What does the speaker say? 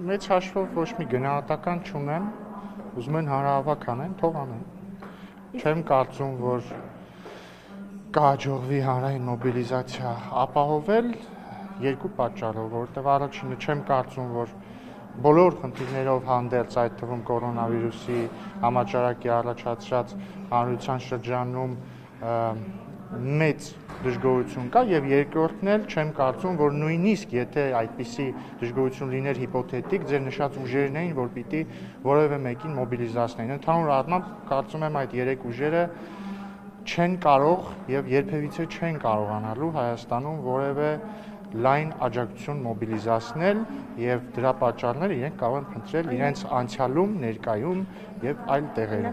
Մեծ հաշվով ոչ մի գնահատական չունեմ, ուզում են հանրահավաք անեն, թող անեն։ Չեմ կարծում, որ կհաջողվի հանրային մոբիլիզացիա ապահովել երկու պատճառով, որովհետև առաջինը չեմ կարծում, որ բոլոր խնդիրներով հանդերձ, այդ թվում կորոնավիրուսի համաճարակի առաջացրած հանրության շրջանում մեծ դժգոհություն կա եւ երկրորդն էլ չեմ կարծում, որ նույնիսկ եթե այդպիսի դժգոհություն լիներ հիպոթետիկ, ձեր նշած ուժերն էին, որ պիտի որևէ մեկին մոբիլիզացնեին։ Ընդհանուր առմամբ կարծում եմ այդ երեք ուժերը չեն կարող եւ երբևիցե չեն կարողանալու Հայաստանում որևէ լայն աջակցություն մոբիլիզացնել եւ դրա պատճառները իրենք կարող են փնտրել իրենց անցյալում, ներկայում եւ այլ տեղերում։